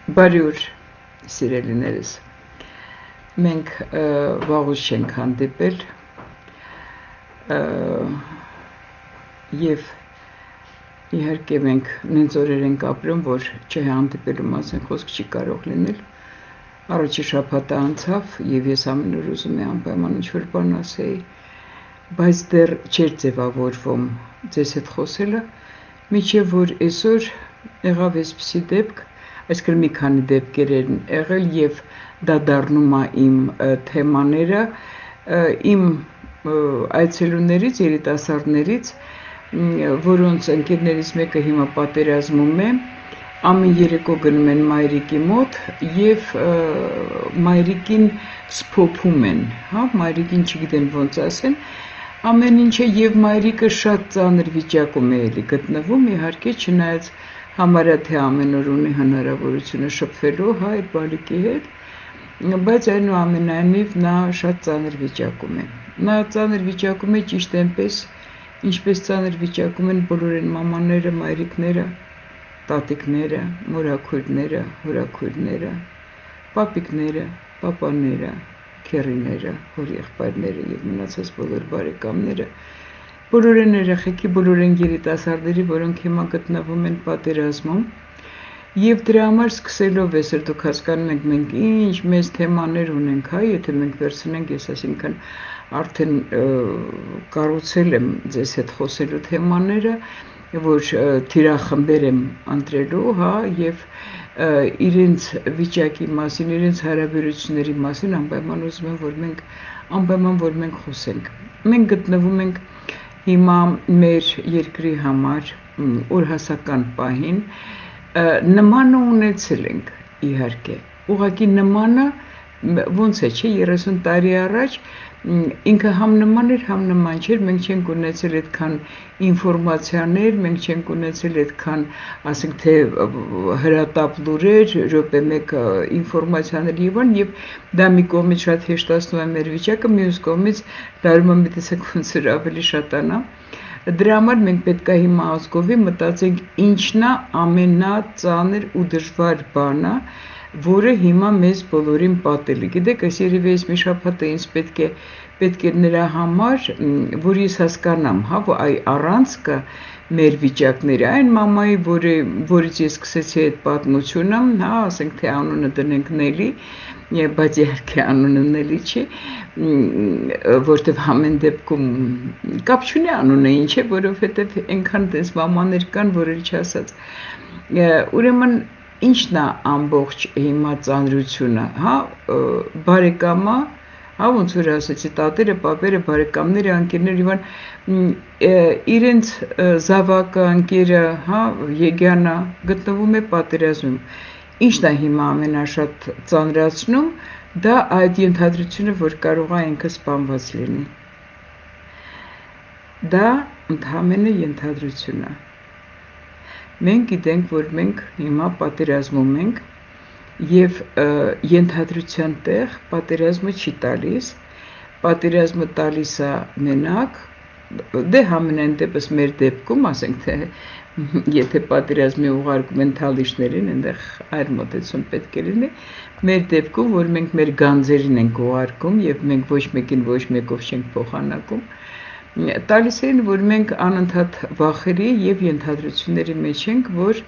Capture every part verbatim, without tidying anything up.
Բարի օր, սիրելիներս։ Մենք վաղուց չենք հանդիպել եւ իհարկե մենք նենց օրեր ենք ապրում, որ չհանդիպելու մասին խոսք չի կարող լինել։ Առաջի շաբաթը անցավ եւ ես ամեն օր ուզում եմ անպայման ինչ-որ բան ասեի, բայց դեռ չէր ձևավորվում ձեզ հետ խոսելը, մինչեւ որ այսօր եղավ այսպիսի դեպք, այսինքն մի քանի դեպքեր են եղել եւ դա դառնում է իմ թեմաները, իմ այցելուներից, երիտասարդներից, որոնց ընկերներից մեկը հիմա պատերազմում է, ամեն երեկո գնում են մայրիկի մոտ եւ մայրիկին սփոփում են, հա, մայրիկին չգիտեն ոնց ասեն, ամեն ինչը եւ մայրիկը շատ ծանր վիճակում է էլի գտնվում, իհարկե չնայած համարյա թե ամեն օր ունի հնարավորությունը շփվելու, հա, այդ բալիկի հետ, բայց այնուամենայնիվ նա շատ ծանր վիճակում է։ Նա ծանր վիճակում է ճիշտ այնպես, ինչպես ծանր վիճակում են բոլոր այն մամաները, մայրիկները, տատիկները, մորաքույրները, հորաքույրները, պապիկները, պապաները, քեռիները, հորեղբայրները եւ մնացած բոլոր բարեկամները, բոլոր այն երեխեքի, բոլոր այն երիտասարդների, որոնք հիմա գտնվում են պատերազմում, եւ դրա համար սկսելով այսօր դուք հասկանում եք մենք ինչ մեծ թեմաներ ունենք, հա, եթե մենք վերցնենք, ես այսինքն արդեն կառուցել եմ ձեզ հետ խոսելու թեմաները, որ թիրախմբեր եմ ընտրելու, հա, եւ իրենց վիճակի մասին, իրենց հարաբերությունների մասին անպայման ուզում եմ, որ մենք անպայման որ մենք խոսենք։ Մենք գտնվում ենք հիմա մեր երկրի համար օրհասական պահին, նմանը ունեցել ենք, իհարկե, ուղղակի նմանը ոնց է, չէ, երեսուն տարի առաջ ինքը համ նման էր, համ նման չէր, մենք չենք ունեցել այդքան ինֆորմացիաներ, մենք չենք ունեցել այդքան, ասենք թե հրատապ լուրեր, րոպե մեկ ինֆորմացիաներ եւ այլն, եւ դա մի կողմից շատ հեշտացնում է մեր վիճակը, մյուս կողմից դառնում է մտածեք ոնց որ ավելի շատանա։ Դրա համար մենք պետք է հիմա ազգովի մտածենք ինչն է ամենածանր ու դժվար բանը, որը հիմա մեզ բոլորին պատելի։ Գիտեք, այս երևի այս մի շաբաթը ինձ պետք է պետք է նրա համար, որ ես հասկանամ, հա, այ առանցքը մեր վիճակները, այն մամայի, որը որից ես սկսեցի այդ պատմությունը, հա, ասենք թե անունը դնենք Նելի, բայց իհարկե անունը Նելի չի, որտեվ ամեն դեպքում կապ չունի անունը ինչ է, որովհետև այնքան դες մամաներ կան, որ էլ չասած։ Ուրեմն ինչն է ամբողջ հիմա ծանրությունը, հա, բարեկամա, հա, ոնց որ ասեցի, տատերը, պապերը, բարեկամները, ընկերները, իրենց զավակը, ընկերը, հա, Եգյանը գտնվում է պատերազմում։ Ինչն է հիմա ամենաշատ ծանրացնում, դա այդ ենթադրությունը, որ կարող է ինքը սպանված լինի։ Դա ընդհանրապես ենթադրություն է։ Մենք գիտենք, որ մենք հիմա պատերազմում ենք եւ ենթադրության տեղ պատերազմը չի տալիս, պատերազմը տալիս է մենակ, դե համենայն դեպս մեր դեպքում, ասենք թե եթե պատերազմի ուղարկում են թալիշներին, այնտեղ այլ մոտեցում պետք է լինի, մեր դեպքում, որ մենք մեր գանձերին ենք ուղարկում եւ մենք ոչ մեկին ոչ մեկով չենք փոխանակում, տալիս են, որ մենք անընդհատ վախերի եւ ենթադրությունների մեջ ենք, որ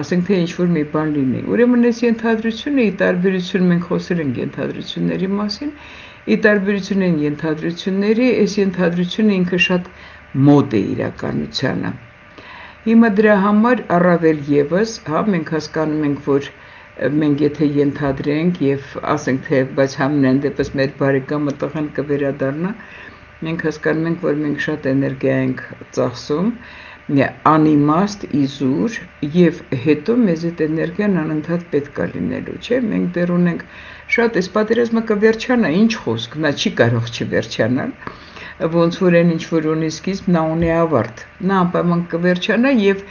ասենք թե ինչ-որ մի բան լինի։ Ուրեմն այս ենթադրությունը ի տարբերություն մենք խոսել ենք ենթադրությունների մասին, ի տարբերություն են ենթադրությունների, այս ենթադրությունը ինքը շատ մոտ է իրականությանը։ Հիմա դրա համար առավել եւս, հա, մենք հասկանում ենք, որ մենք եթե ենթադրենք եւ ասենք թե բայց համենայն դեպս մեր բարեկամը տղան կվերադառնա, մենք հասկանում ենք, որ մենք շատ էներգիա ենք ծախսում, անիմաստ, իզուր եւ հետո մեզ այդ էներգիան անընդհատ պետք է լինելու, չէ՞, մենք դեռ ունենք շատ այս պատերազմը կվերջանա, ինչ խոսք, նա չի կարող չվերջանալ, ոնց որ այն ինչ որ ունի սկիզբ, նա ունի ավարտ, նա անպայման կվերջանա եւ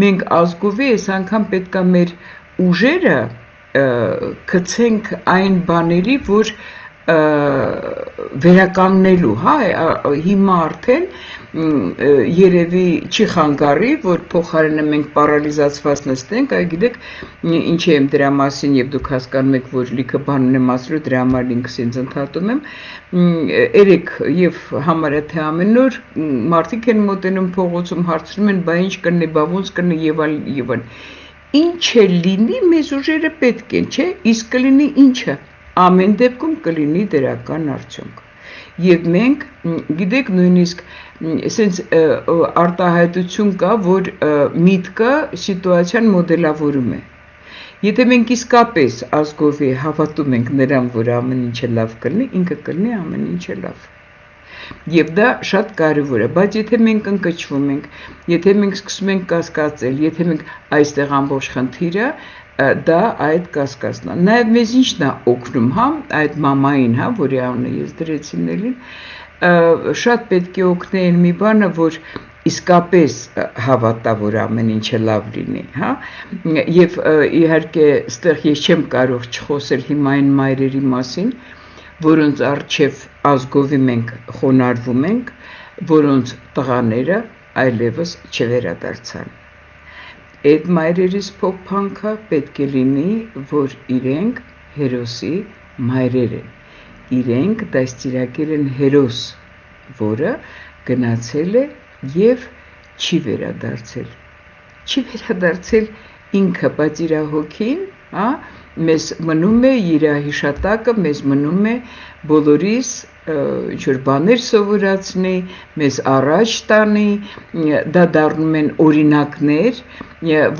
մենք ազգովի այս անգամ պետք է մեր ուժերը գցենք այն բաների, որ վերականգնելու, հա, հիմա արդեն երևի չի խանգարի, որ փոխարենը մենք պարալիզացված նստենք, այ գիտեք, ինչ եմ դրա մասին եւ դուք հասկանում եք, որ լիքը բաներ եմ ասելու, դրա համար ինքս ինձ ընդհատում եմ, երեք եւ համարյա թե ամեն օր մարդիկ են մոտենում փողոցում հարցնում են, բա ինչ կլինի, բա ոնց կլինի եւ այլ եւ այլ։ Ինչ է լինի, մեզ ուժերը պետք են, չէ՞, իսկ կլինի ինչը, ամեն դեպքում կլինի դրական արդյունք։ Եվ մենք, գիտեք, նույնիսկ ասենց արտահայտություն կա, որ միտքը սիտուացիան մոդելավորում է։ Եթե մենք իսկապես ազգովի հավատում ենք նրան, որ ամեն ինչը լավ կլինի, ինքը կլինի ամեն ինչը լավ։ Եվ դա շատ կարևոր է, բայց եթե մենք ընկճվում ենք, եթե մենք սկսում ենք կասկածել, եթե մենք այստեղ ամբողջ խնդիրը դա այդ կասկածն է։ Նաև մեզ ինչն է օգնում, հա, այդ մամային, հա, որի անունը ես դրեցի ներին, շատ պետք է օգնել մի բանը, որ իսկապես հավատա, որ ամեն ինչը լավ լինի, հա, եւ իհարկե այստեղ ես չեմ կարող չխոսել հիմա այն մայրերի մասին, որոնց առջև ազգովի մենք խոնարհվում ենք, որոնց տղաները այլևս չվերադարձան։ Այդ մայրերիս փոփանքը պետք է լինի, որ իրենք հերոսի մայրեր են, իրենք դաստիարակել են հերոս, որը գնացել է եւ չի վերադարձել, չի վերադարձել ինքը, բայց իր հոգին, հա, մեզ մնում է իր հիշատակը, մեզ մնում է բոլորիս ինչ-որ բաներ սովորացնի, մեզ առաջ տանի, դա դառնում են օրինակներ,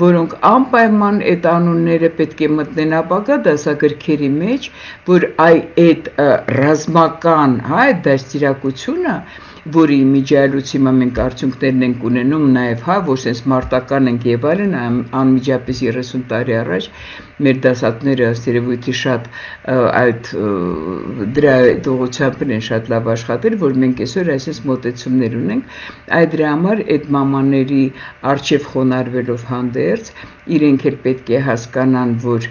որոնք անպայման այդ անունները պետք է մտնեն ապագա դասագրքերի մեջ, որ այդ ռազմական, հա, այդ դաստիարակությունը, որի միջայլույց հիմա մենք արդյունքներն ենք ունենում, նաև հա, որ sense մարտական ենք եւ այլն, անմիջապես երեսուն տարի առաջ մեր դասատները ըստ երևույթի շատ այդ դրա ուղղությամբ են շատ լավ աշխատել, որ մենք այսօր այսպես մոտեցումներ ունենք, այդ դրա համար այդ մամաների արժև խոնարհվելով հանդերձ, իրենք էլ պետք է հասկանան, որ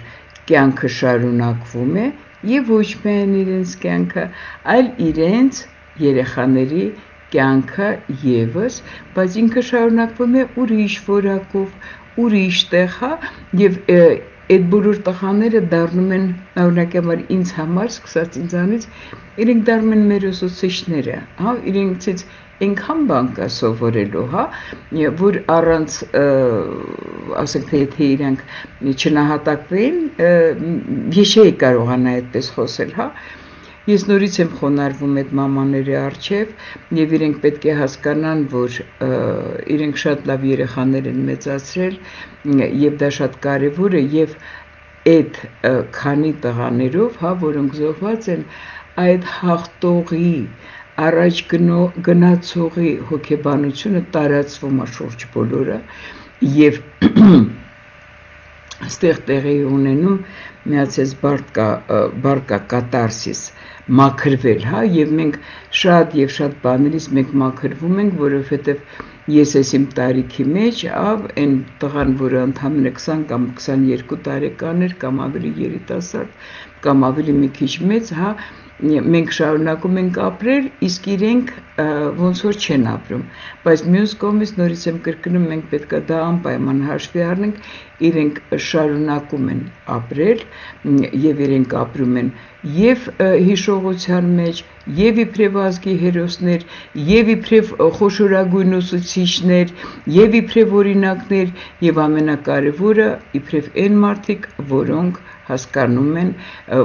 կյանքը շարունակվում է եւ ոչ միայն իրենց կյանքը, այլ իրենց երեխաների կյանքը եւս, բայց ինքը շարունակվում է ուրիշ որակով, ուրիշ տեղ, հա, եւ այդ բոլոր տղաները դառնում են, օրինակ համար ինձ համար, սկսած ինձանից, իրենք դառնում են մեր ուսուցիչները, հա, իրենցից այնքան բան կա սովորելու, հա, որ առանց, ասենք թե եթե իրենք չնահատակվեին, ես չէի կարողանա այդպես խոսել, հա, ես նորից եմ խոնարհվում այդ մամաների առջև եւ իրենք պետք է հասկանան, որ իրենք շատ լավ երեխաներ են մեծացրել եւ դա շատ կարեւոր է եւ այդ քանի տղաներով, հա, որոնք զոհված են, այդ հաղթողի առաջ գնացողի հոգեբանությունը տարածվում է շուրջ բոլորը եւ այստեղ տեղի ունենում միացած բարկա բարկա կատարսիս մաքրվել, հա, եւ մենք շատ եւ շատ բաներից մենք մաքրվում ենք, որովհետեւ ես ես իմ տարիքի մեջ ավ այն տղան, որը ընդամենը քսան կամ քսաներկու տարեկան էր, կամ ավելի երիտասարդ, կամ ավելի մի քիչ մեծ, հա, մենք շարունակում ենք ապրել, իսկ իրենք ոնց որ չեն ապրում, բայց մյուս կողմից նորից եմ կրկնում, մենք պետք է դա անպայման հաշվի առնենք, իրենք շարունակում են ապրել եւ իրենք ապրում են եւ հիշողության մեջ, եւ իբրև ազգի հերոսներ, եւ իբրև խոշորագույն ուսուցիչներ, եւ իբրև օրինակներ, եւ ամենակարևորը իբրև այն մարդիկ, որոնք հասկանում են,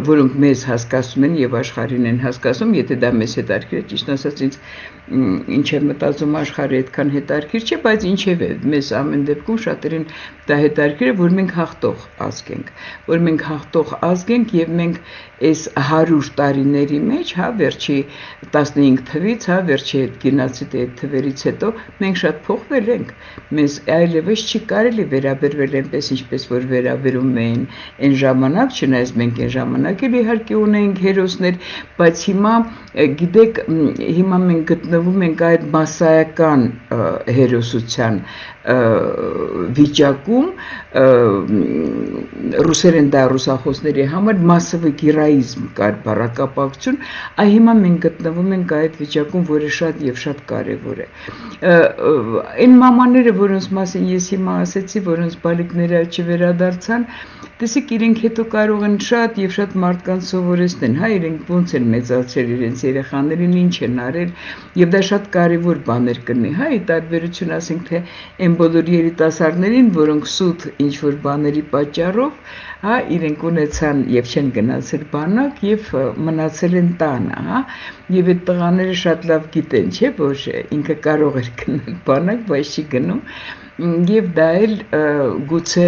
որոնք մեզ հասկացում են եւ աշխարհին են հասկացում, եթե դա մեզ հետաքրքիր է, ճիշտ ասած ինձ ինչ է մտածում աշխարհը այդքան հետաքրքիր չէ, բայց ինչեւ է, մեզ ամեն դեպքում շատերին դա հետաքրքիր է, որ մենք հաղթող ազգ ենք, որ մենք հաղթող ազգ ենք եւ մենք այս հարյուր տարիների մեջ, հա, վերջի տասնհինգ թվից, հա, վերջի այդ գենոցիդի այդ թվերից հետո մենք շատ փոխվել ենք, մեզ այլևս չի կարելի վերաբերվել այնպես ինչպես որ վերաբերում էին այն ժամանակ ժամանակ, չնայած մենք այն ժամանակ էլ իհարկե ունեինք հերոսներ, բայց հիմա գիտեք, հիմա մենք գտնվում ենք այդ մասսայական հերոսության վիճակում, ռուսերեն դա ռուսախոսների համար մասսովի գիրայիզմ կար բառակապակցություն, այ հիմա մենք գտնվում ենք այդ վիճակում, որը շատ եւ շատ կարեւոր է։ Այն մամաները, որոնց մասին ես հիմա ասեցի, որոնց բալիկները չվերադարձան, տեսեք, իրենք հետո կարող են շատ եւ շատ մարդկանց սովորեցնել, հա, իրենք ոնց են մեծացրել իրենց երեխաներին, ինչ են արել, եւ դա շատ կարեւոր բաներ կնի, հա, ի տարբերություն ասենք թե այն բոլոր երիտասարդներին, որոնք սուտ ինչ որ բաների պատճառով, հա, իրենք ունեցան եւ չեն գնացել բանակ եւ մնացել են տանը, հա, եւ այդ տղաները շատ լավ գիտեն, չէ՞, որ ինքը կարող էր գնալ բանակ, բայց չի գնում։ Եվ դա էլ գուցե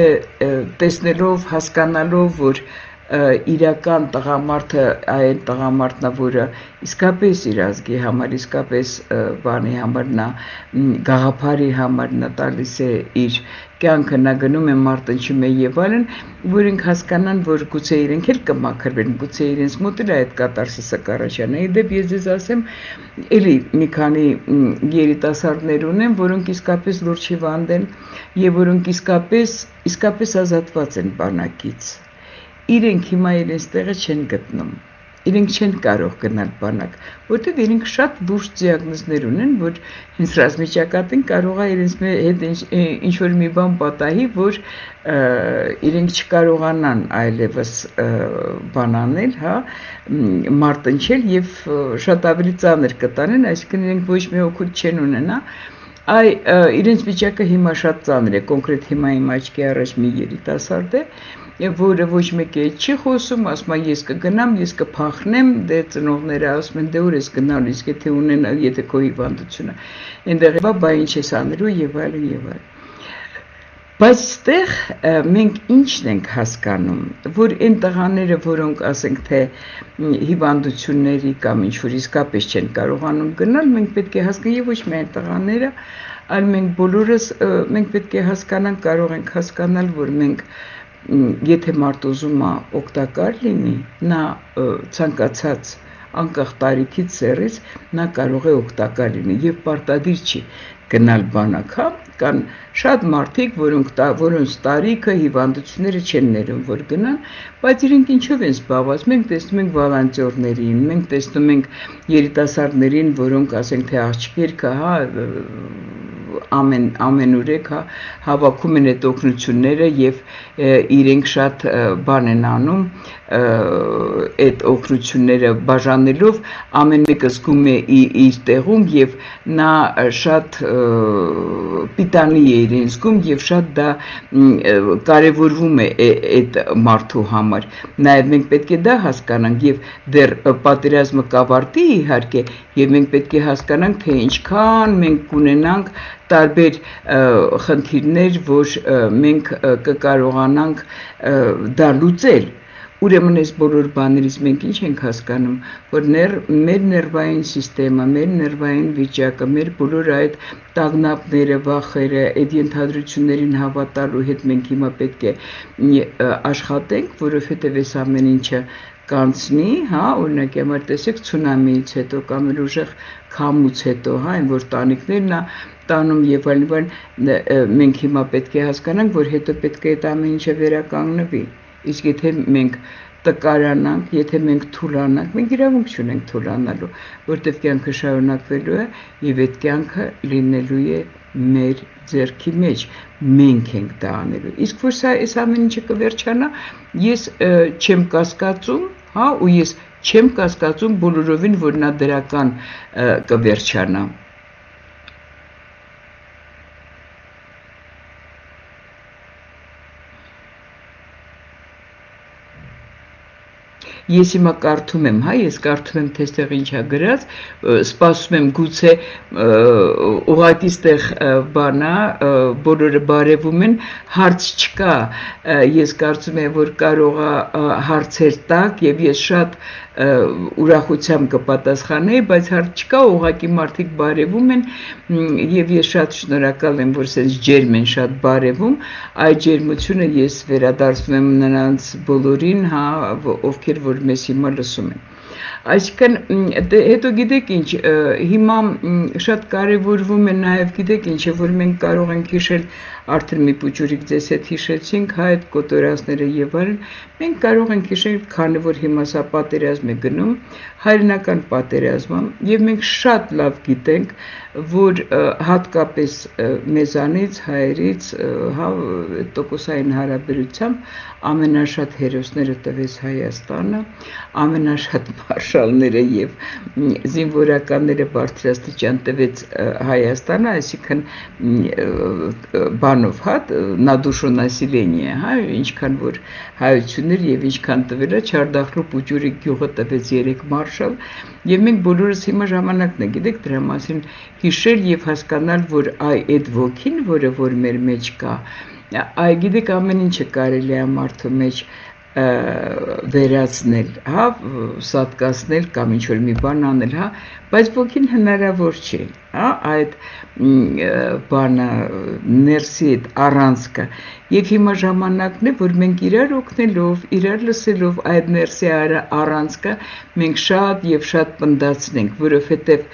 տեսնելով, հասկանալով, որ իրական տղամարդը այն տղամարդն է, որը իսկապես իր ազգի համար, իսկապես բանի համար նա գաղափարի համար նա տալիս է իր կյանքը, նա գնում է մարտնչում է եւ այլն, որ ինք հասկանան, որ գուցե իրենք էլ կմաքրվեն, գուցե իրենց մոտ էլ այդ կատարսիսը կառաջանա։ Իդեպ ես ձեզ ասեմ, էլի մի քանի երիտասարդներ ունեմ, որոնք իսկապես լուրջ հիվանդ են եւ որոնք իսկապես իսկապես ազատված են բանակից։ Իրենք հիմա իրենց տեղը չեն գտնում, իրենք չեն կարող գնալ բանակ, որտեղ իրենք շատ լուրջ դիագնոզներ ունեն, որ հենց ռազմիճակատին կարող է իրենց հետ ինչ որ մի բան պատահի, որ իրենք չկարողանան այլևս բան անել, հա, մարտնչել եւ շատ ավելի ծանր կտանեն, այսինքն իրենք ոչ մի օգուտ չեն ունենա։ Այ իրենց վիճակը հիմա շատ ծանր է, կոնկրետ հիմա իմ աչքի առաջ մի երիտասարդ է, որը ոչ մեկի հետ չի խոսում, ասում է ես կգնամ, ես կփախնեմ, դե ծնողները ասում են դե ուր ես գնալու, իսկ եթե ունենա, եթե քո հիվանդությունը, այնտեղ է, բա ինչ ես անելու եւ այլն եւ այլն։ Բայց այստեղ մենք ինչն ենք հասկանում, որ այն տղաները, որոնք ասենք թե հիվանդությունների կամ ինչ որ իսկապես չեն կարողանում գնալ, մենք պետք է հասկանանք եւ ոչ միայն տղաները, այլ մենք բոլորս մենք պետք է հասկանանք, կարող ենք հասկանալ, որ մենք եթե մարդ ուզում է օգտակար լինի, նա ցանկացած անկախ տարիքից սեռից նա կարող է օգտակար լինի եւ պարտադիր չի գնալ բանակ, հա, կան շատ մարդիկ, որոնք որոնց տարիքը հիվանդությունները չեն ներում, որ գնան, բայց իրենք ինչով են զբաղված, մենք տեսնում ենք վոլոնտյորներին, մենք տեսնում ենք երիտասարդներին, որոնք ասենք թե աղջիկերքը, հա, ամեն ամենուրեք հա հավաքում են այդ օգնությունները եւ իրենք շատ բան են անում այդ օգնությունները բաժանելով ամեն մեկը զգում է իր տեղում եւ նա շատ պիտանի է իրեն զգում եւ շատ դա կարեւորվում է այդ մարդու համար նաեւ մենք պետք է դա հասկանանք եւ դեռ պատերազմը կավարտի իհարկե եւ մենք պետք է հասկանանք թե ինչքան մենք կունենանք տարբեր խնդիրներ, որ մենք կկարողանանք դա լուծել։ Ուրեմն այս բոլոր բաներից մենք ինչ ենք հասկանում, որ մեր ներվային սիստեմը, մեր ներվային վիճակը, մեր բոլոր այդ տագնապները, վախերը, այդ ենթադրություններին հավատալու հետ մենք հիմա պետք է աշխատենք, որովհետև այս ամեն ինչը կանցնի, հա, օրինակ համար տեսեք ցունամիից հետո կամ էլ ուժեղ քամուց հետո, հա, այն որ տանիքներն է տանում եւ այլն, մենք հիմա պետք է հասկանանք, որ հետո պետք է այդ ամեն ինչը վերականգնվի։ Իսկ եթե մենք տկարանանք, եթե մենք թուլանանք, մենք իրավունք չունենք թուլանալու, որտեղ կյանքը շարունակվելու է եւ այդ կյանքը լինելու է մեր ձեռքի մեջ, մենք ենք դա անելու։ Իսկ որ սա այս ամեն ինչը կվերջանա, ես չեմ կասկածում, հա, ու ես չեմ կասկածում բոլորովին, որ նա դրական կվերջանա։ ես հիմա կարդում եմ, հա, ես կարդում եմ, թե ստեղ ինչ է գրած, սպասում եմ գուցե ուղղակի ստեղ բանա, բոլորը բարևում են, հարց չկա, ես կարծում եմ, որ կարող է հարցեր տակ եւ ես շատ ուրախությամբ կպատասխանեի, բայց հարց չկա, ուղղակի մարդիկ բարևում են եւ ես շատ շնորհակալ եմ, որ sense ջերմ են շատ բարևում, այդ ջերմությունը ես վերադարձնում եմ նրանց բոլորին, հա, ովքեր որ մեզ հիմա լսում են։ Այսինքն հետո գիտեք ինչ, հիմա շատ կարևորվում է նաև գիտեք ինչ, որ մենք կարող ենք հիշել, արդեն մի փոքրիկ ձեզ հետ հիշեցինք, հա, այդ կոտորածները եւ այլն, մենք կարող ենք հիշել, քանի որ հիմա սա պատերազմ է գնում, հայրենական պատերազմը, եւ մենք շատ լավ գիտենք, որ հատկապես մեզանից, հայերից, հա, տոկոսային հարաբերությամբ ամենաշատ հերոսները տվեց Հայաստանը, ամենաշատ մարշալները եւ զինվորականները բարձրաստիճան տվեց Հայաստանը, այսինքն բանով, հա, на душу населения, հա, ինչքան որ հայություններ եւ ինչքան տվել է Չարդախլու Պուճուրի գյուղը տվեց երեք մարշալ եւ մենք բոլորս հիմա ժամանակն է գիտեք դրա մասին հիշել եւ հասկանալ որ այ այդ ոգին որը որ մեր մեջ կա այ գիտեք ամեն ինչը կարելի է մարդու մեջ վերացնել, հա, սատկացնել կամ ինչ-որ մի բան անել, հա, բայց ոգին հնարավոր չէ, հա, այդ բանը ներսի այդ առանցքը եւ հիմա ժամանակն է, որ մենք իրար օգնելով, իրար լսելով այդ ներսի առանցքը մենք շատ եւ շատ պնդացնենք, որովհետեւ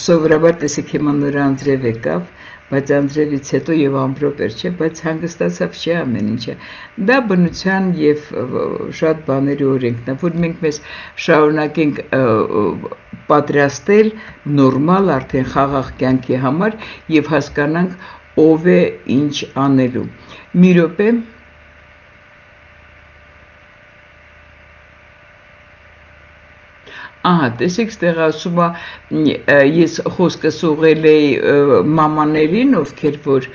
սովորաբար տեսեք հիմա նոր անձրև եկավ բայց անձրևից հետո եւ ամպրոպ էր, չէ, բայց հանգստացավ չէ ամեն ինչը։ Դա բնության եւ շատ բաների օրենքն է, որ մենք մեզ շարունակենք պատրաստել նորմալ արդեն խաղաղ կյանքի համար եւ հասկանանք ով է ինչ անելու։ Մի րոպե Ահա, տեսեք, ստեղ ասում է, ես խոսքս ուղղել էի մամաներին, ովքեր որ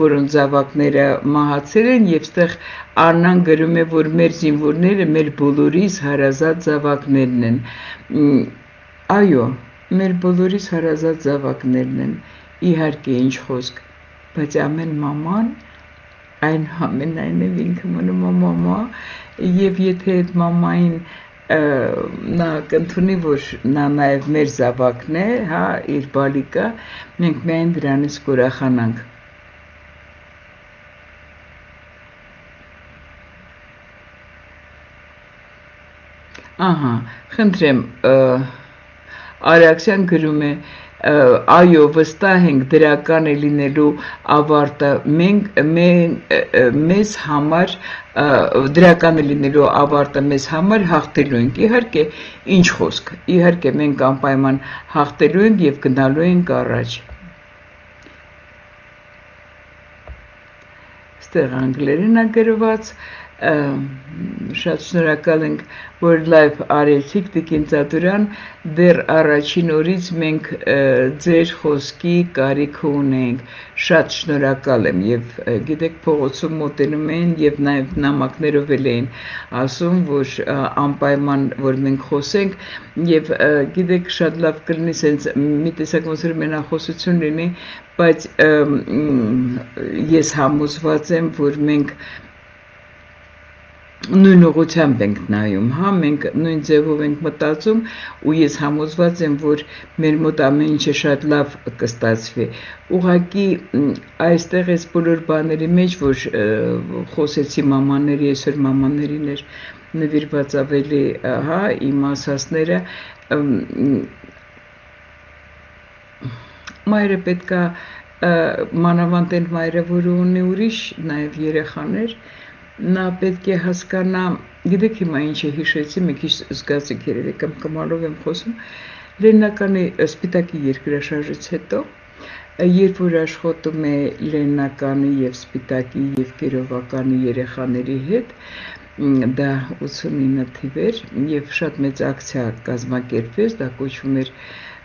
որոնց զավակները մահացել են, եւ ստեղ Արնան գրում է, որ մեր զինվորները մեր բոլորիս հարազատ զավակներն են։ Այո, մեր բոլորիս հարազատ զավակներն են, իհարկե ինչ խոսք, բայց ամեն մաման այն ամենայնիվ ինքը մնում է մամա, եւ եթե այդ մամային նա կընդունի, որ նա նաև մեր զավակն է, հա, իր բալիկը, մենք միայն դրանից կուրախանանք։ Ահա, խնդրեմ, Արաքսյան գրում է, այո, վստահ ենք դրական է լինելու ավարտը, մենք մեզ համար դրական է լինելու ավարտը մեզ համար հաղթելու ենք, իհարկե, ինչ խոսք, իհարկե մենք անպայման հաղթելու ենք և գնալու ենք առաջ։ Ստեղ անգլերեն է գրված, շատ շնորհակալ ենք, որ լայվ արեցիք Տիկին Ծատուրյան, դեռ առաջին օրից մենք ձեր խոսքի կարիքը ունենք, շատ շնորհակալ եմ եւ գիտեք փողոցում մոտենում են եւ նաեւ նամակներով էլ էին ասում, որ անպայման որ մենք խոսենք եւ գիտեք շատ լավ կլինի sense մի տեսակ ոնց որ մենախոսություն լինի, բայց ես համոզված եմ, որ մենք նույն ուղղությամբ ենք նայում, հա, մենք նույն ձևով ենք մտածում ու ես համոզված եմ, որ մեր մոտ ամեն ինչը շատ լավ կստացվի։ Ուղղակի այստեղ այս բոլոր բաների մեջ, որ խոսեցի մամաների, այսօր մամաներին էր նվիրված ավելի, հա, իմ ասածները, մայրը պետք է մանավանդ այն մայրը, որը ունի ուրիշ նաև երեխաներ, նա պետք է հասկանա, գիտեք հիմա ինչ է հիշեցի, մի քիչ զգացիք երևի կամ կամալով եմ խոսում, Լեննականի Սպիտակի երկրաշարժից հետո, երբ որ աշխատում է Լեննականի եւ Սպիտակի եւ Կիրովականի երեխաների հետ, դա ութսունինը թիվեր եւ շատ մեծ ակցիա կազմակերպվեց, դա կոչվում էր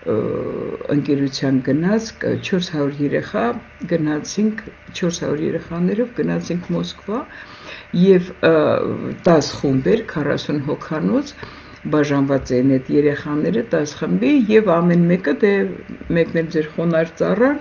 ընկերության գնաց չորս հարյուր երեխա գնացինք չորս հարյուր երեխաներով գնացինք Մոսկվա եւ տասը խումբեր քառասուն հոգանոց բաժանված էին այդ երեխաները տասը խմբի եւ ամեն մեկը դե մեկն էլ ձեր խոնար ծառան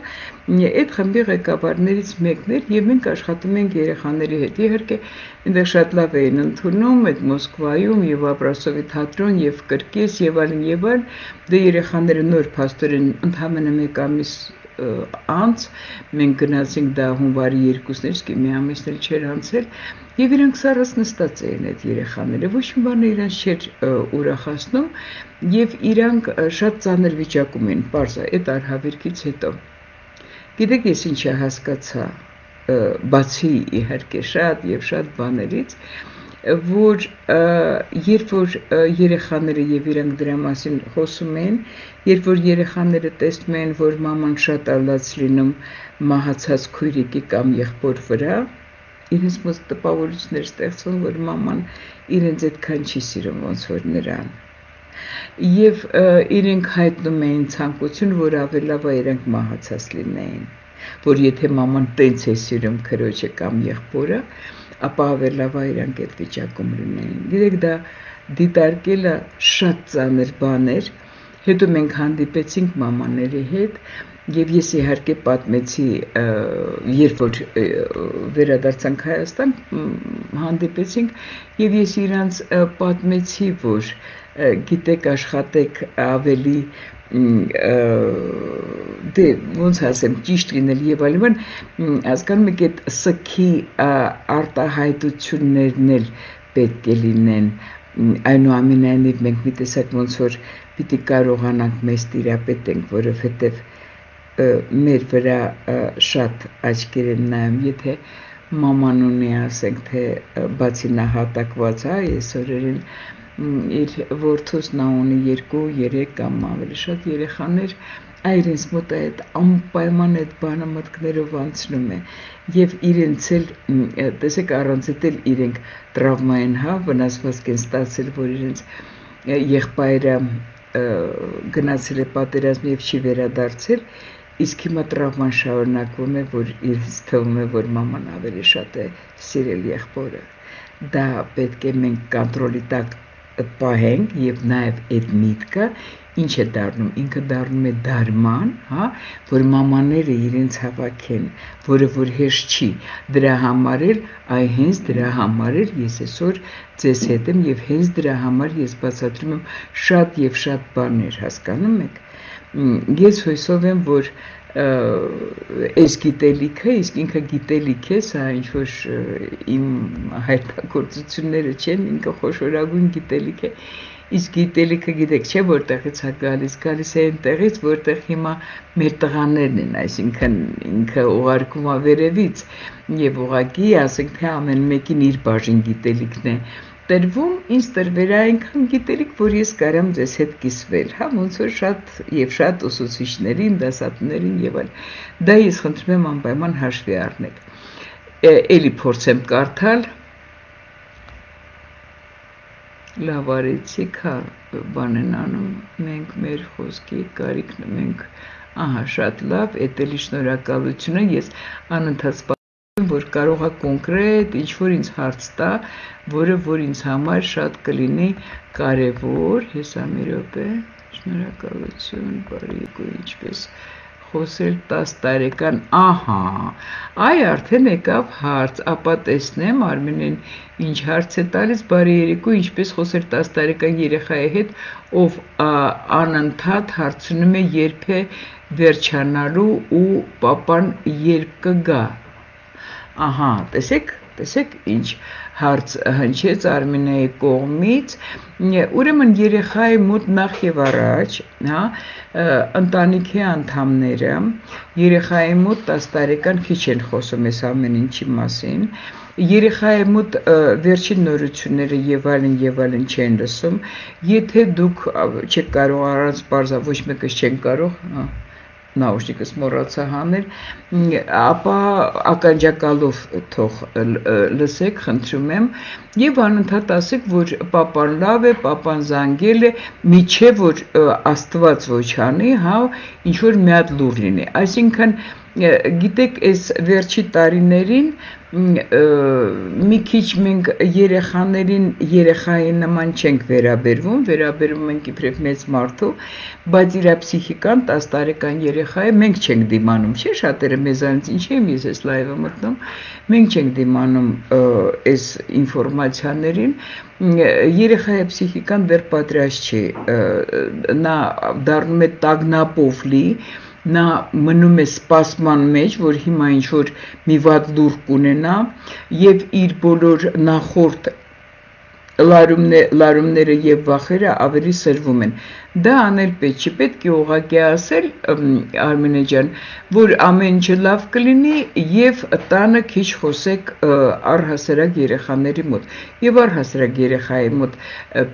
այդ խմբի ղեկավարներից մեկն էր եւ մենք աշխատում ենք երեխաների հետ իհարկե այնտեղ շատ լավ էին ընդունում այդ Մոսկվայում եւ Աբրասովի թատրոն եւ կրկես եւ այլն եւ այլն դե երեխաները նոր փաստորեն ընդհանրապես մեկ ամիս անց մենք գնացինք դա հունվարի երկուսն էր իսկ մի ամիսն էլ չէր անցել եւ իրանք սարս նստած էին այդ երեխաները ոչ մի բան իրանք չէր ուրախացնում եւ իրանք շատ ծանր վիճակում էին բարձր այդ արհավիրքից հետո գիտեք ես ինչ հասկացա բացի իհարկե շատ եւ շատ բաներից որ երբ որ երեխաները եւ իրանք դրա մասին խոսում են երբ որ երեխաները տեսնում են որ մաման շատ ալած լինում մահացած քույրիկի կամ եղբոր վրա իրենց մոտ տպավորություններ ստեղծվում որ մաման իրենց այդքան չի սիրում ոնց որ նրան եւ իրենք հայտնում էին ցանկություն որ ավելի լավ իրենք մահացած լինեին որ եթե մաման տենց է սիրում քրոջը կամ եղբորը ապա ավելի լավ իրանք այդ վիճակում լինեին գիտեք դա դիտարկելը շատ ծանր բան էր հետո մենք հանդիպեցինք մամաների հետ եւ ես իհարկե պատմեցի երբ որ վերադարձանք Հայաստան հանդիպեցինք եւ ես իրանց պատմեցի որ գիտեք աշխատեք ավելի դե ոնց ասեմ ճիշտ լինել եւ այլն հասկանում եք այդ սքի արտահայտություններն էլ պետք է լինեն այնուամենայնիվ մենք մի տեսակ ոնց որ պիտի կարողանանք մեզ տիրապետենք որովհետեւ մեր վրա շատ աչքեր են նայում եթե մաման ունի ասենք թե բացի նահատակված է այս օրերին իր որդուս նա ունի երկու երեք կամ ավելի շատ երեխաներ այրենց մոտ այդ անպայման այդ բանը մտքներով անցնում է եւ իրենց էլ տեսեք առանց էլ իրենք տրավմային հա վնասվածք են ստացել որ իրենց եղբայրը գնացել է պատերազմ եւ չի վերադարձել իսկ հիմա տրավման շարունակվում է որ իրենց թվում է որ մաման ավելի շատ է սիրել եղբորը դա պետք է մենք կոնտրոլի տակ պահենք եւ նաեւ այդ միտքը ինչ է դառնում ինքը դառնում է դարման հա որ մամաները իրենց հավաքեն որը որ հեշտ չի դրա համար էլ այ հենց դրա համար էլ ես այսօր ձեզ հետ եմ եւ հենց դրա համար ես բացատրում եմ շատ եւ շատ բաներ հասկանում եք ես հույսով եմ որ այս գիտելիքը իսկ ինքը գիտելիք է սա ինչ որ իմ հայտագործությունները չեն ինքը խոշորագույն գիտելիք է իսկ գիտելիքը գիտեք չէ որտեղից է գալիս գալիս է այնտեղից որտեղ հիմա մեր տղաներն են այսինքն ինքը ուղարկում է վերևից եւ ուղակի ասենք թե ամեն մեկին իր բաժին գիտելիքն է տրվում ինձ տրվել է այնքան գիտելիք որ ես կարամ ձեզ հետ կիսվել հա ոնց որ շատ եւ շատ ուսուցիչներին դասատուներին եւ այլ դա ես խնդրում եմ անպայման հաշվի առնեք էլի փորձեմ կարդալ լավ արեցիք հա բան են անում մենք մեր խոսքի կարիքն մենք ահա շատ լավ էդ էլի շնորհակալությունը ես անընդհատ որ կարող է կոնկրետ ինչ որ ինձ հարց տա որը որ ինձ համար շատ կլինի կարևոր հեսա մի րոպե շնորհակալություն բարի ինչպես խոսել տասը տարեկան ահա այ արդեն եկավ հարց ապա տեսնեմ Արմենեն ինչ հարց է տալիս բարի երեկո ինչպես խոսել տասը տարեկան երեխայի հետ ով անընդհատ հարցնում է երբ է վերջանալու ու պապան երբ կգա ահա տեսեք տեսեք ինչ հարց հնչեց Արմենայի կողմից ուրեմն երեխայի մոտ նախ եւ առաջ հա ընտանիքի անդամները երեխայի մոտ տասը տարեկան քիչ են խոսում այս ամեն ինչի մասին երեխայի մոտ վերջին նորությունները եւ այլն եւ այլն չեն լսում եթե դուք չեք կարող առանց բարձա ոչ մեկը չեն կարող նաուշնիկս մոռացա հանել, ապա ականջակալով թող լսեք, խնդրում եմ, եւ անընդհատ ասեք, որ պապան լավ է, պապան զանգել է, միջև որ Աստված ոչ անի, հա, ինչ որ մի հատ լուր լինի։ Այսինքն գիտեք, այս վերջի տարիներին մի քիչ մենք երեխաներին երեխայի նման չենք վերաբերվում, վերաբերվում ենք իբրև մեծ մարդու, բայց իր փսիխիկան տաս տարեկան երեխա է, մենք չենք դիմանում, չէ՞, շատերը մեզանից ինչ եմ ես այս լայվը մտնում, մենք չենք դիմանում այս ինֆորմացիաներին, երեխայի փսիխիկան դեռ պատրաստ չի, նա դառնում է տագնապով լի, նա մնում է սպասման մեջ, որ հիմա ինչ-որ մի վատ լուր կունենա և իր բոլոր նախորդ լարումները և վախերը ավելի սրվում են։ Դա անել պետք չի, պետք է ուղղակի ասել, Արմենե ջան, որ ամեն ինչը լավ կլինի և տանը քիչ խոսեք առհասարակ երեխաների մոտ։ Եվ առհասարակ երեխայի մոտ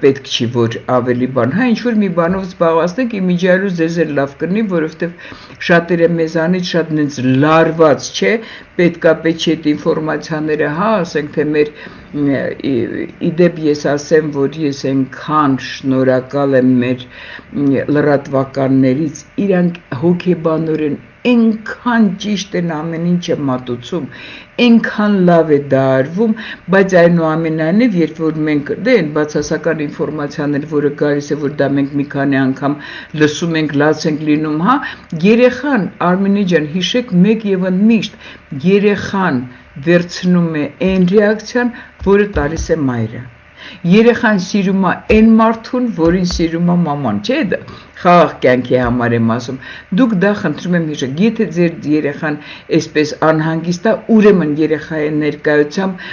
պետք չի, որ ավելի բան, հա ինչ-որ մի բանով զբաղվածնեք, իմիջիալուց ձեզ էլ լավ կլինի, որովհետև շատերը մեզանից շատ նենց լարված չէ, պետքա պետք չի այդ ինֆորմացիաները, հա, ասենք թե մեր իդեպ ես ասեմ, որ ես այնքան շնորհակալ եմ մեր լրատվականներից, իրանք հոգեբանորեն այնքան ճիշտ են ամեն ինչը մատուցում, այնքան լավ է դա արվում, բայց այնուամենայնիվ, երբ որ մենք դե այն բացասական ինֆորմացիաներ, որը գալիս է, որ դա մենք մի քանի անգամ լսում ենք, լաց ենք լինում, հա, երեխան, Արմենե ջան, հիշեք մեկ եւ ընդմիշտ, երեխան վերցնում է այն ռեակցիան, որը տալիս է մայրը։ Երեխան սիրում է այն մարդուն, որին սիրում է մաման, չէ՞ դա։ Խաղաղ կյանքի համար եմ ասում։ Դուք դա խնդրում եմ հիշեք, եթե ձեր երեխան այսպես անհանգիստ է, ուրեմն երեխայի ներկայությամբ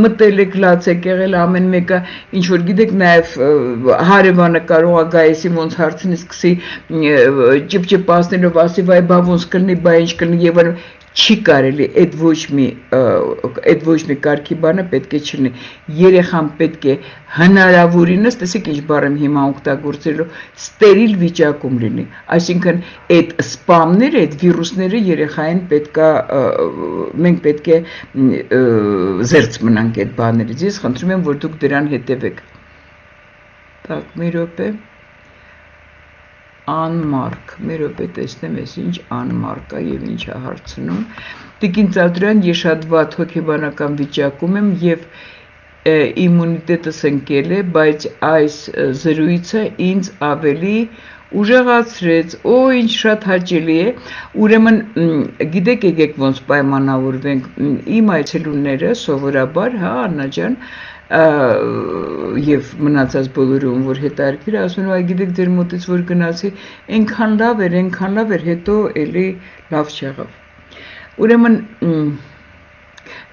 մտել եք, լաց եք եղել, ամեն մեկը ինչ որ գիտեք, նաև հարևանը կարող է գա էսի ոնց հարցնի, սկսի ճպճպացնելով ասի, վայ բա ոնց կլինի, բա ինչ կլինի եւ այլն, չի կարելի, այդ ոչ մի այդ ոչ մի կարգի բանը պետք է չլինի։ Երեխան պետք է հնարավորինս, տեսեք ինչ բառ եմ հիմա օգտագործելու, ստերիլ վիճակում լինի։ Այսինքն այդ սպամները, այդ վիրուսները երեխային պետքա մենք պետք է զերծ մնանք այդ բաներից։ Ես խնդրում եմ, որ դուք դրան հետևեք։ Так, մի րոպե։ Անմարկ, մեր ոպե տեսնեմ ես ինչ անմարկ է և ինչ է հարցնում։ Տիկին Ծադրյան, ես շատ վատ հոգեբանական վիճակում եմ և իմունիտետս ընկել է, բայց այս զրույցը ինձ ավելի ուժեղացրեց, օ ինչ շատ հաճելի է, ուրեմն գիտեք եկեք ոնց պայմանավորվենք, իմ այցելուները սովորաբար, հա Աննա ջան, և մնացած բոլորը ում որ հետարքիր, ասում են, գիտեք ձեր մոտից որ գնացի, այնքան լավ էր, այնքան լավ էր, հետո էլի լավ չեղավ։ Ուրեմն,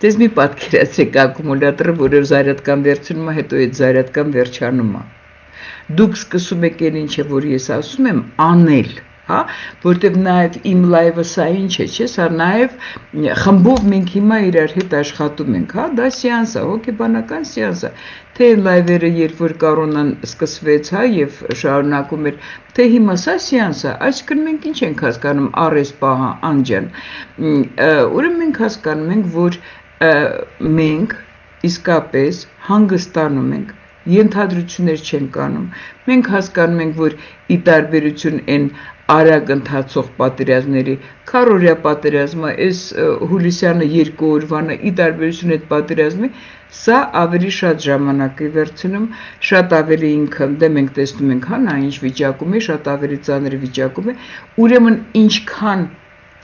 դες մի պատկերացրեք ակումուլյատորը, որը զարյատկան վերցնում է, հետո այդ զարյատկան վերջանում է։ Դուք սկսում եք այն ինչը, որ ես ասում եմ, անել, հա, որտեվ նաև իմ լայվը սա ինչ է, չէ, սա նաև խմբով մենք հիմա իրար հետ աշխատում ենք, հա, դա սեանս է, հոգեբանական սեանս է, թե լայվերը երբ որ կորոնան սկսվեց, հա, եւ շարունակում էր, թե հիմա սա սեանս է, այսինքն մենք ինչ ենք հասկանում առես պահա անջան, ուրեմն մենք հասկանում ենք, որ մենք իսկապես հանգստանում ենք, ենթադրություններ չենք անում, մենք հասկանում ենք, որ ի տարբերություն այն արագ ընթացող պատերազմների, քառօրյա պատերազմը, այս հուլիսյանը երկու օրվանը ի տարբերություն այդ պատերազմի, սա ավելի շատ ժամանակ է վերցնում, շատ ավելի ինքը, դե մենք տեսնում ենք, հա, նա ինչ վիճակում է, շատ ավելի ծանր վիճակում է, ուրեմն ինչքան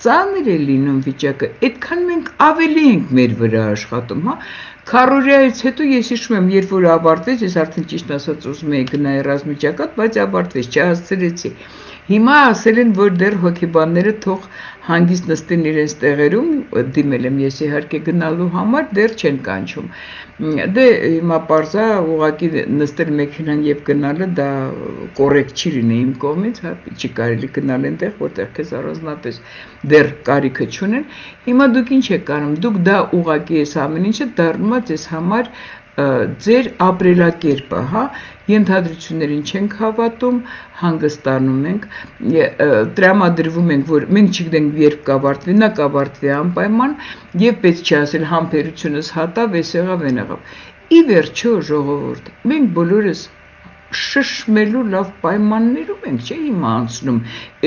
ծանր է լինում վիճակը, այդքան մենք ավելի ենք մեր վրա աշխատում, հա, քառօրյայից հետո ես հիշում եմ, երբ որ ավարտվեց, ես արդեն ճիշտ ասած ուզում էի գնալ ռազմաճակատ, բայց ավարտվեց, չհասցրեցի։ Հիմա ասել են, որ դեռ հոգեբանները թող հանգիստ նստեն իրենց տեղերում, դիմել եմ ես իհարկե գնալու համար, դեռ չեն կանչում։ Դե հիմա պարզա ուղղակի նստել մեքենան եւ գնալը դա կոռեկտ չի լինի իմ կողմից, հա, չի կարելի գնալ այնտեղ, որտեղ քեզ առանձնապես դեռ կարիքը չունեն։ Հիմա դուք ինչ եք անում, դուք դա ուղղակի այս ամեն ինչը դառնում է ձեզ համար ձեր ապրելակերպը, հա, ենթադրություններին չենք հավատում, հանգստանում ենք, տրամադրվում ենք, որ մենք չգիտենք երբ կավարտվի, նա կավարտվի անպայման, եւ պետք չի ասել համբերությունս հատավ, էս եղավ, այն եղավ։ Ի վերջո ժողովուրդ, մենք բոլորս շշմելու լավ պայմաններում ենք, չէ՞ հիմա անցնում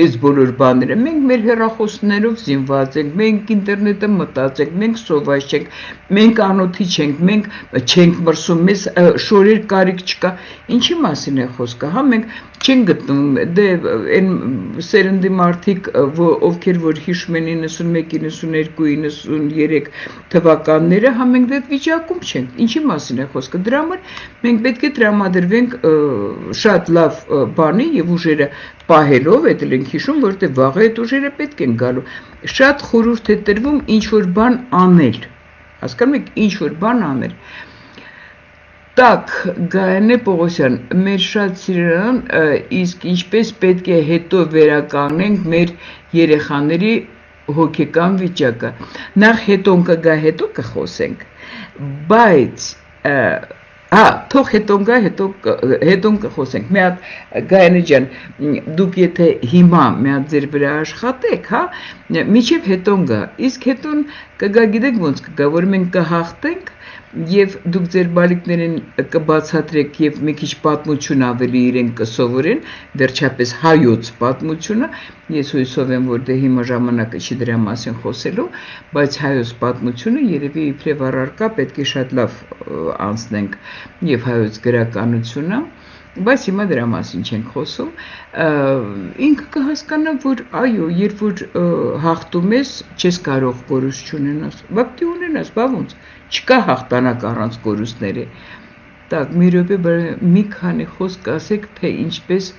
այս բոլոր բաները, մենք մեր հեռախոսներով զինված ենք, մենք ինտերնետը մտածենք, մենք սոված չենք, մենք անոթի չենք, մենք չենք մրսում, մեզ շորեր կարիք չկա, ինչի մասին է խոսքը, հա, մենք չենք գտնում, դե այն սերնդի մարդիկ, ովքեր որ հիշում են իննսունմեկ, իննսուներկու, իննսուներեք թվականները, հա, մենք դե վիճակում չենք, ինչի մասին է խոսքը, դրա համար մենք պետք է տրամադրվենք շատ լավ բանի եւ ուժերը պահելով, այդ էլ ենք հիշում, որտեղ վաղը այդ ուժերը պետք են գալու, շատ խորհուրդ է տրվում ինչ-որ բան անել, հասկանում եք, ինչ-որ բան անել։ Так, Գայանե Պողոսյան, մեր շատ սիրան, իսկ ինչպես պետք է հետո վերականգնենք մեր երեխաների հոգեկան վիճակը։ Նախ հետոն կգա, հետո կխոսենք, բայց Հա, թող հետոն գա, հետոն կխոսենք, մի հատ Գայանե ջան, դուք եթե հիմա մի հատ ձեր վրա աշխատեք, հա, միջև հետոն գա, իսկ հետոն կգա, գիտեք ոնց կգա, որ մենք կհաղթենք եւ դուք ձեր բալիկներին կբացատրեք եւ մի քիչ պատմություն ավելի իրեն կսովորեն, վերջապես հայոց պատմությունը, ես հույսով եմ, որ դե հիմա ժամանակը չի դրա մասին խոսելու, բայց հայոց պատմությունը երևի իբրև առարկա պետք է շատ լավ անցնենք եւ հայոց գրականությունը, բայց հիմա դրա մասին չենք խոսում, ինքը կհասկանա, որ այո, երբ որ հաղթում ես, չես կարող կորուստ չունենաս, բա պիտի ունենաս, բա ոնց, չկա հաղթանակ առանց կորուստների։ Так, մի րոպե, մի քանի խոսք ասեք, թե ինչպես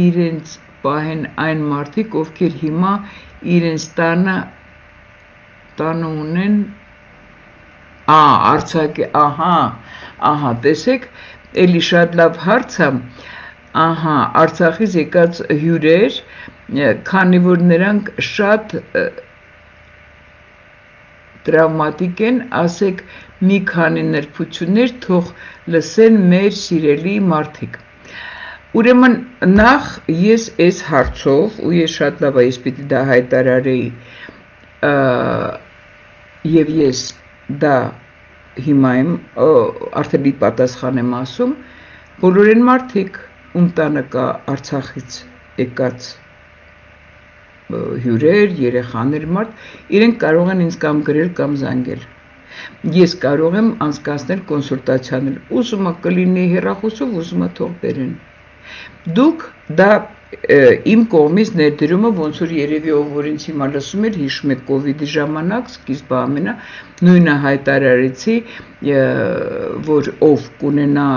իրենց պահեն այն մարդիկ, ովքեր հիմա իրենց տանը տանը ունեն, ա, արցակե, ահա, ահա, տեսեք, էլի շատ լավ հարց է, ահա, Արցախից եկած հյուրեր, քանի որ նրանք շատ տրավմատիկ են, ասեք մի քանի նրբություններ թող լսեն մեր սիրելի մարդիկ։ Ուրեմն նախ ես այս հարցով, ու ես շատ լավ այս պիտի դա հայտարարեի, եւ ես դա հիմա եմ արդեն մի պատասխան եմ ասում, բոլոր են մարդիկ, ում տանը կա Արցախից եկած հյուրեր, երեխաներ, մարդ, իրենք կարող են ինձ կամ գրել կամ զանգել։ Ես կարող եմ անցկացնել կոնսուլտացիաներ, ուզում ա կլինի հեռախոսով, ուզում ա թող բերեն։ Դուք դա իմ կողմից ներդրումը ոնց որ երևի ով որ ինձ հիմա լսում էր, հիշում եք կովիդի ժամանակ, սկիզբը ամենա նույնը հայտարարեցի, որ ով կունենա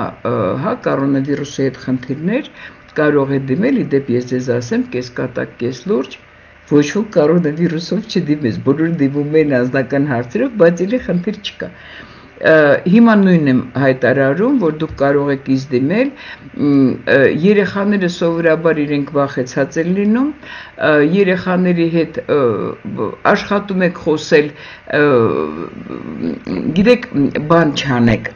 հա կորոնավիրուսի հետ խնդիրներ, կարող է դիմել, իդեպ ես ձեզ ասեմ, կես կատակ, կես լուրջ, ոչ ոք կորոնավիրուսով չդիմես, բոլորը դիմում են անձնական հարցերով, բայց էլի խնդիր չկա։ Հիմա նույնն եմ հայտարարում, որ դուք կարող եք ինձ դիմել, երեխաները սովորաբար իրենք վախեցած են լինում, երեխաների հետ աշխատում եք խոսել, գիտեք, բան չանեք,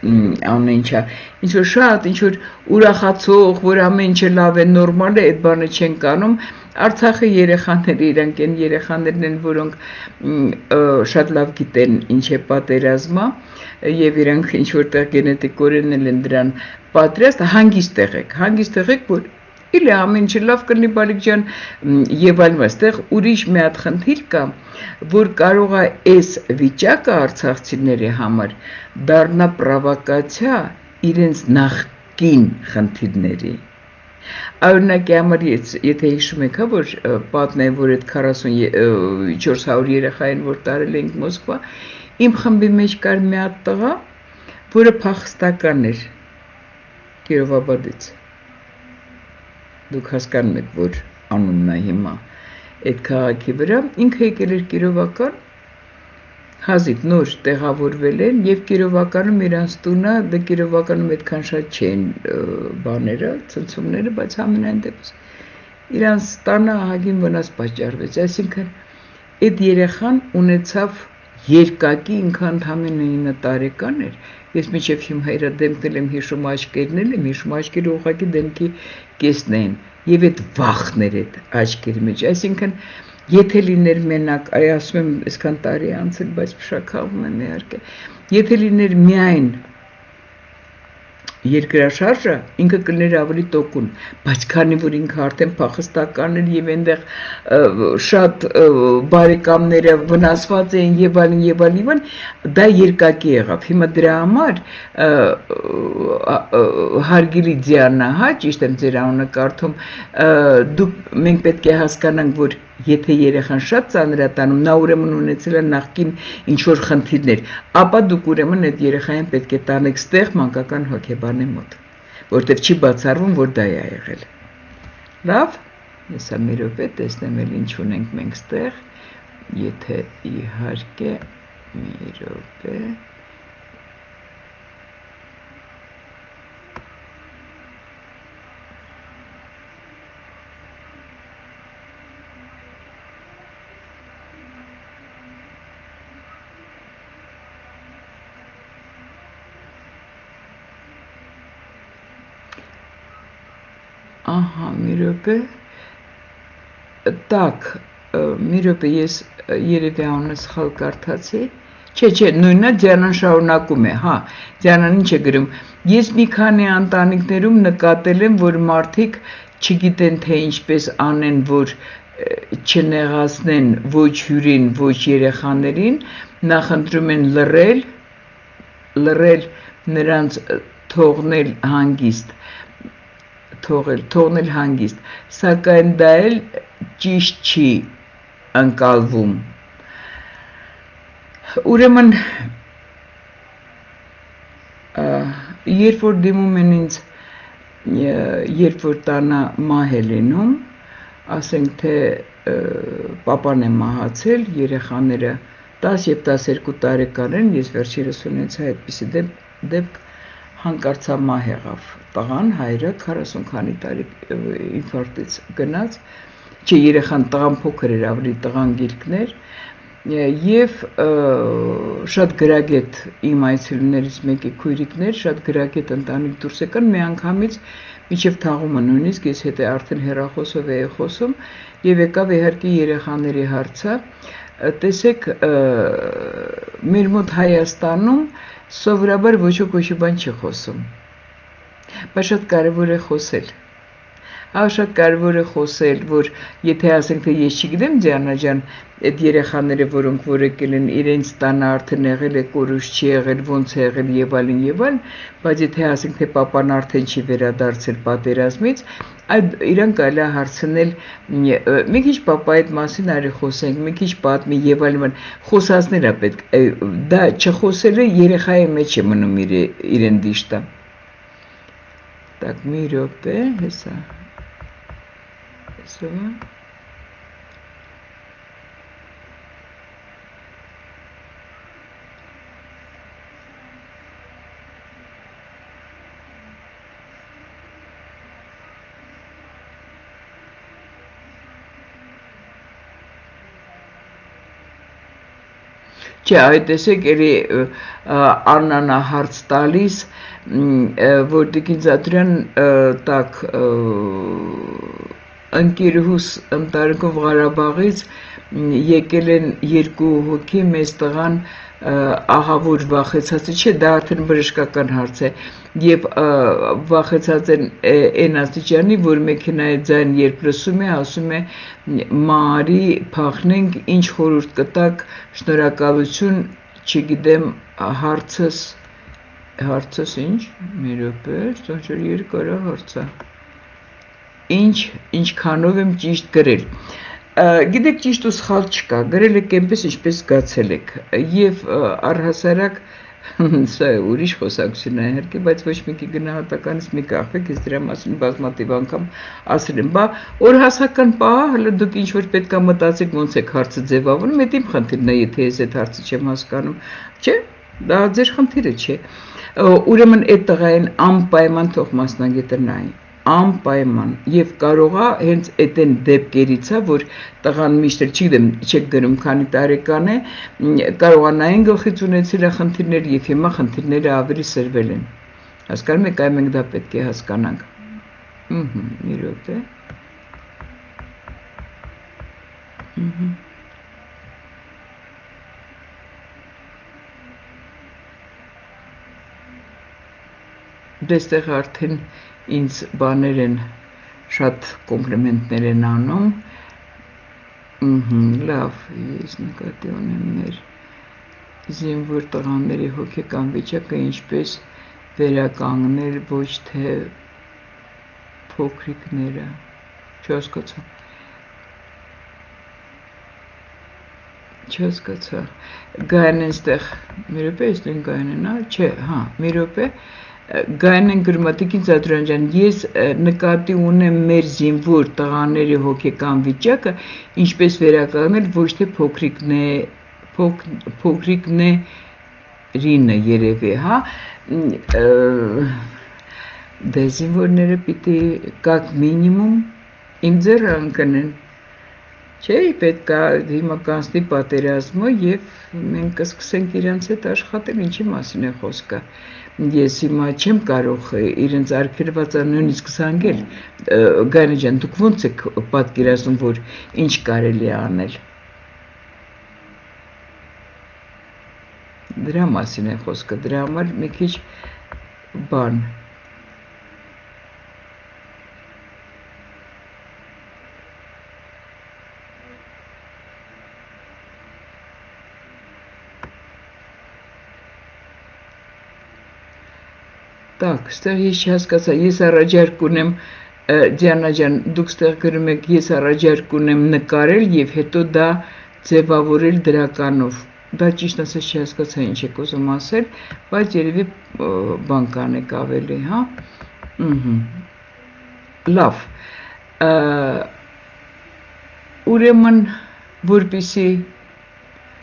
ամենչա, ինչ-որ շատ, ինչ-որ ուրախացող, որ ամեն ինչը լավ է, նորմալ է, այդ բանը չենք անում, Արցախի երեխաները իրանք են երեխաներն են, որոնք շատ լավ գիտեն ինչ է պատերազմը եւ իրանք ինչ որտեղ գենետիկորեն են դրան պատրաստ, հանգիստ եղեք, հանգիստ եղեք, որ իլի ամեն ինչ լավ կլինի բալիկ ջան եւ այլն, այստեղ ուրիշ մի հատ խնդիր կա, որ կարող է այս վիճակը արցախցիների համար դառնա պրովոկացիա իրենց նախկին խնդիրների։ Օրինակի համար եթե հիշում եք, հա, որ պատմեմ, որ այդ քառասունչորս հարյուր երեխային, որ տարել ենք Մոսկվա, իմ խմբի մեջ կար մի հատ տղա, որը փախստական էր Կիրովաբադից։ Դուք հասկանում եք, որ անունն է հիմա այդ քաղաքի վրա, ինքը եկել էր Կիրովական, հազիվ նոր տեղավորվել են եւ Կիրովականում իրանց տունը, դե Կիրովականում այդքան շատ չեն բաները, ցնցումները, բայց ամենայն դեպս իրանց տանը ահագին վնաս պատճառվեց, այսինքն այդ երեխան ունեցավ երկակի ինքը ընդամենը ինը տարեկան էր ես միջև հիմա իրա դեմքն եմ հիշում աչքերն եմ հիշում աչքերը ուղղակի դեմքի կեսն էին եւ այդ վախներ այդ աչքերի մեջ այսինքն եթե լիներ մենակ այ ասում եմ այսքան տարի անցել բայց փշակաղում եմ իհարկե եթե լիներ միայն երկրաշարժը ինքը կլներ ավելի տոկուն, բայց քանի որ ինքը արդեն փախստական էր եւ այնտեղ շատ բարեկամները վնասված էին եւ այլն եւ այլն, դա երկակի եղավ։ Հիմա դրա համար հարգելի Դիանա, հա, ճիշտ եմ ձեր անունը կարդում, դուք մենք պետք է հասկանանք, որ եթե երեխան շատ ծանրատանում, նա ուրեմն ունեցել է նախկին ինչ-որ խնդիրներ, ապա դուք ուրեմն այդ երեխային պետք է տանեք ստեղ մանկական հոգեբանի մոտ, որտեղ չի բացառվում, որ դա է եղել։ Լավ, հեսա մի րոպե տեսնեմ էլ ինչ ունենք մենք ստեղ, եթե իհարկե մի րոպե Ահա, մի րոպե, տակ, մի րոպե, ես երևի անունը սխալ կարդացի, չէ, չէ, նույնը Դիանան շարունակում է, հա, Դիանան ինչ է գրում, ես մի քանի ընտանիքներում նկատել եմ, որ մարդիկ չգիտեն, թե ինչպես անեն, որ չնեղացնեն ոչ հյուրին, ոչ երեխաներին, նախընտրում են լռել, լռել նրանց թողնել հանգիստ, թողել, թողնել հանգիստ, սակայն դա էլ ճիշտ չի ընկալվում։ Ուրեմն, երբ որ դիմում են ինձ, երբ որ տանը մահ է լինում, ասենք թե պապան է մահացել, երեխաները տաս և տասներկու տարեկան են, ես վերջերս ունեցա այդպիսի դեպք հանկարծա մահ եղավ տղան, հայրը քառասուն քանի տարի ինֆարկտից գնաց, չէ երեխան տղան փոքր էր, ավելի տղան գիրկներ եւ շատ գրագետ իմ այցելուներից մեկի քույրիկներ, շատ գրագետ ընտանիք դուրս եկան, մի անգամից միջև թաղումը նույնիսկ ես հետ է արդեն հեռախոսով էի խոսում եւ եկավ իհարկե երեխաների հարցը, տեսեք մեր մոտ Հայաստանում սովորաբար ոչ ոք ոչի բան չի խոսում, բայց շատ կարևոր է խոսել, հա շատ կարևոր է խոսել, որ եթե ասենք թե ես չգիտեմ Դիանա ջան, այդ երեխաները, որոնք որ եկել են իրենց տանը արդեն եղել է կորուս չի եղել, ոնց է եղել եւ այլն եւ այլն, բայց եթե ասենք թե պապան արդեն չի վերադարձել պատերազմից, այդ իրան կարելի է հարցնել մի քիչ պապայի այդ մասին արի խոսենք, մի քիչ պատմի եւ այլն, խոսածներ է պետք, դա չխոսելը երեխայի մեջ է մնում իրեն դիշտա։ Так, մի րոպե, հեսա, հեսա, Չէ, այդ տեսեք էլի Աննան հարց տալիս, որ Տիկին Զատուրյան տակ ընկերուհուս ընտանիքով Ղարաբաղից եկել են երկու հոգի, մեծ տղան ահավոր վախեցած է, չէ, դա արդեն բժշկական հարց է, եւ վախեցած են այն աստիճանի, որ մեքենայի ձայն երբ լսում է, ասում է մարի փախնենք, ինչ խորհուրդ կտակ, շնորհակալություն, չգիտեմ, հարցս, հարցս ինչ, մի րոպե, ստոջեր երկար է հարցը, ինչ, ինչքանով եմ ճիշտ գրել, գիտեք ճիշտ ու սխալ չկա, գրել եք այնպես ինչպես զգացել եք, եւ առհասարակ սա ուրիշ խոսակցություն է իհարկե, բայց ոչ մեկի գնահատականից մի կախվեք, ես դրա մասին բազմաթիվ անգամ ասել եմ, բա օրհասական պահ, հələ դուք ինչ որ պետք է մտածեք, ոնց եք հարցը ձևավորում, դա իմ խնդիրն է, եթե ես այդ հարցը չեմ հասկանում, չէ, դա ձեր խնդիրը չէ, ուրեմն այդ տղային անպայման թող մասնագետը նայի, անպայման եւ կարող է հենց այդ են դեպքերից է որ տղան միշտ չգիտեմ չեք գրում քանի տարեկան է կարողանային գլխից ունեցել է խնդիրներ եւ հիմա խնդիրները ավելի սրվել են հասկանում եք այ մենք դա պետք է հասկանանք ըհը մի րոպե ըհը Դեստեղ արդեն ինձ բաներ են շատ կոմպլիմենտներ են անում ըհը լավ ես նկատի ունեմ մեր զինվոր տղաների հոգեկան վիճակը ինչպես վերականգնել ոչ թե փոքրիկները չհասկացա չհասկացա գային այստեղ մի րոպե ես դեն գային են չէ հա մի րոպե Գայնեն գրմատիկին Զադրան ես նկատի ունեմ մեր զինվոր տղաների հոգեկան վիճակը ինչպես վերականգնել ոչ թե փոքրիկն է փոքրիկն է ռինը երևի հա դե զինվորները պիտի կակ մինիմում իմ ձեռը ընկնեն չէ պետք է հիմա կանցնի պատերազմը եւ մենք կսկսենք իրենց հետ աշխատել ինչի մասին է խոսքը Ես հիմա չեմ կարող իրենց արգելվածը նույնիսկ զանգել Գայնա ջան դուք ոնց եք պատկերացնում որ ինչ կարելի է անել Դրա մասին է խոսքը դրա համար մի քիչ բան Так, ստեղ ես չհասկացա, ես առաջարկ ունեմ Դիանա ջան, դուք ստեղ գրում եք ես առաջարկ ունեմ նկարել եւ հետո դա ձևավորել դրականով։ Դա ճիշտ ասած չհասկացա ինչ եք ուզում ասել, բայց երևի բան կանեք ավելի, հա։ Ահա։ Լավ։ Ուրեմն որպեսի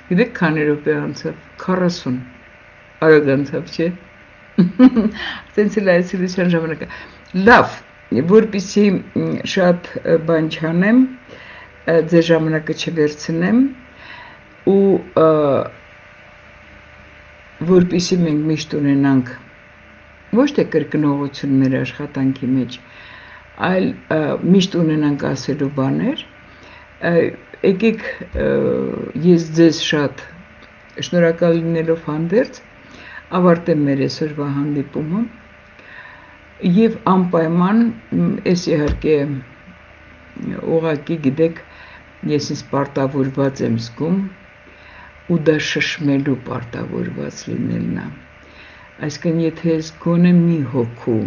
գիտեք քանի րոպե անցավ, քառասուն արագ անցավ, չէ։ Տենց էլ այսիլության ժամանակը լավ որպեսի շատ բան չանեմ ձեր ժամանակը չվերցնեմ ու որպեսի մենք միշտ ունենանք ոչ թե կրկնողություն մեր աշխատանքի մեջ այլ միշտ ունենանք ասելու բաներ եկեք ես ձեզ շատ շնորհակալ լինելով հանդերձ ավարտեմ մեր այսօրվա հանդիպումը եւ անպայման ես իհարկե ուղղակի գիտեք ես ինձ պարտավորված եմ զգում ու դա շշմելու պարտավորված լինելն է այսինքն եթե ես գոնե մի հոգու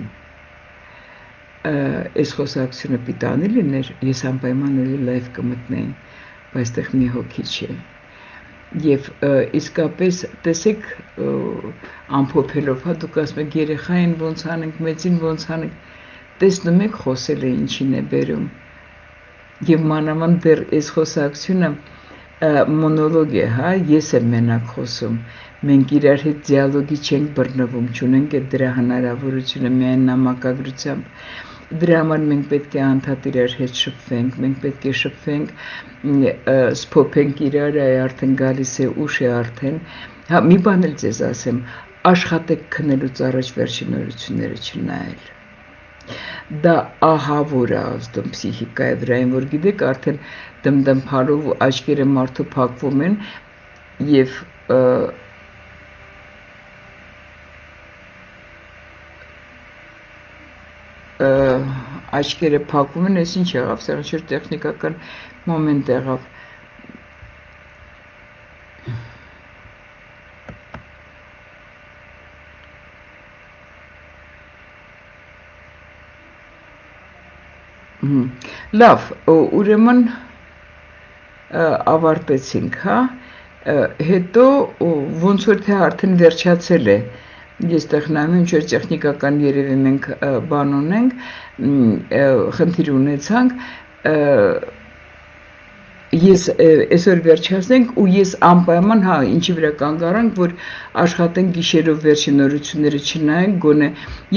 այս խոսակցությունը պիտանի լիներ ես անպայման էլի լայվ կմտնեի բայց այդտեղ մի հոգի չէ Եվ իսկապես տեսեք ամփոփելով, հա դուք ասում եք երեխային ոնց անենք, մեծին ոնց անենք, տեսնում եք խոսել է ինչին է բերում։ Եվ մանավանդ դեռ այս խոսակցությունը մոնոլոգ է, հա, ես եմ մենակ խոսում։ Մենք իրար հետ դիալոգի չենք բռնվում, չունենք այդ դրա հնարավորությունը միայն նամակագրությամբ։ Դրա համար մենք պետք է անդադ իրար հետ շփվենք, մենք պետք է շփվենք, սփոփենք իրար, այ արդեն գալիս է ուշ է արդեն։ Հա, մի բան էլ ձեզ ասեմ, աշխատեք քնելուց առաջ վերջին նորությունները չնայել։ Դա ահավոր է ազդում պսիխիկայի վրա, որ գիտեք, արդեն դմդմփալով աչքերը մարդու փակվում են եւ աչքերը փակում են, ես ինչ եղավ, սա ինչ-որ տեխնիկական մոմենտ եղավ։ Լավ, ուրեմն ավարտեցինք, հա, հետո ոնց որ թե արդեն վերջացել է Ես տեխնայում ինչ որ տեխնիկական երևի մենք բան ունենք, խնդիր ունեցանք, ես այսօր վերջացնենք ու ես անպայման հա ինչի վրա կանգառանք որ աշխատենք գիշերով վերջին նորությունները չնայենք գոնե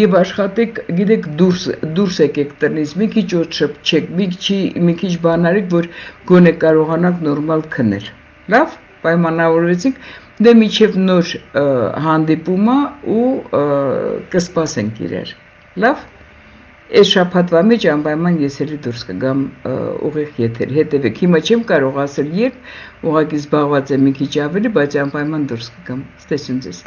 եւ աշխատեք գիտեք դուրս դուրս եկեք տնից մի քիչ օդ շփչեք մի քիչ մի քիչ բանարեք որ գոնե կարողանաք նորմալ քնել լավ պայմանավորվեցինք դե միջև նոր հանդիպումը ու կսպասենք իրար լավ Այս շաբաթվա մեջ անպայման ես էլի դուրս կգամ ուղիղ եթեր հետևեք հիմա չեմ կարող ասել երբ ուղղակի զբաղված եմ մի քիչ ավելի բայց անպայման դուրս կգամ ստեսուն ձեզ